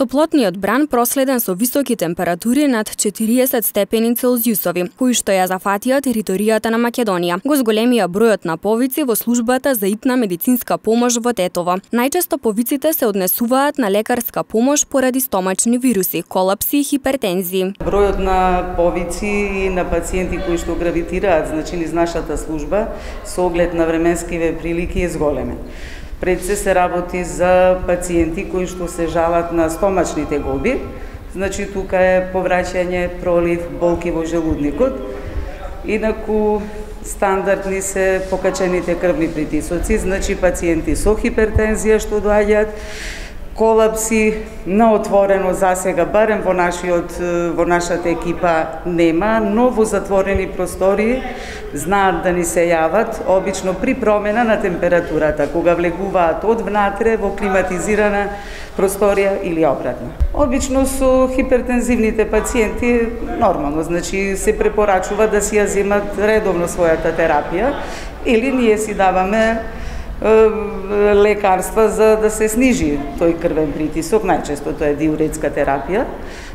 Топлотниот бран проследен со високи температури над 40 степени Целзиусови, кои што ја зафатија територијата на Македонија, го зголемија бројот на повици во службата за итна медицинска помош во Тетово. Најчесто повиците се однесуваат на лекарска помош поради стомачни вируси, колапси и хипертензии. Бројот на повици и на пациенти кои што гравитираат низ нашата служба со оглед на временскиве прилики е зголемен. Пред се работи за пациенти кои што се жалат на стомачните гоби, тука е повраќање, пролив, болки во желудникот. Инаку стандардни се покачените крвни притисоци, пациенти со хипертензија што доаѓаат, колапси на отворено засега, барем во нашата екипа нема, но во затворени простории знаат да ни се јават, обично при промена на температурата, кога влегуваат од внатре во климатизирана просторија или обратно. Обично со хипертензивните пациенти нормално, се препорачува да си ја земат редовно својата терапија или ние си даваме лекарства за да се снижи тој крвен притисок, најчесто тоа е диуретска терапија,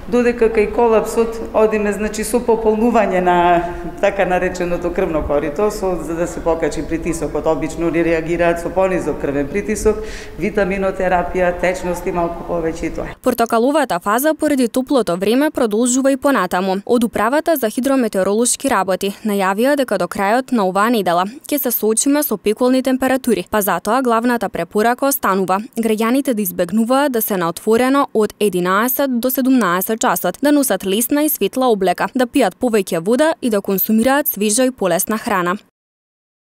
додека кај колапсот одиме со пополнување на така нареченото крвно корито, за да се покачи притисокот. Обично ли реагираат со понизок крвен притисок, витаминотерапија, течности малку повеќе и тоа. Портокаловата фаза поради топлото време продолжува и понатаму. Од управата за хидрометеоролошки работи најавија дека до крајот на оваа недела ќе се соочиме со пеколни температури, па затоа главната препорака останува граѓаните да избегнуваат да се на отворено од 11 до 17 часот, да носат лесна и светла облека, да пијат повеќе вода и да консумираат свежа и полесна храна.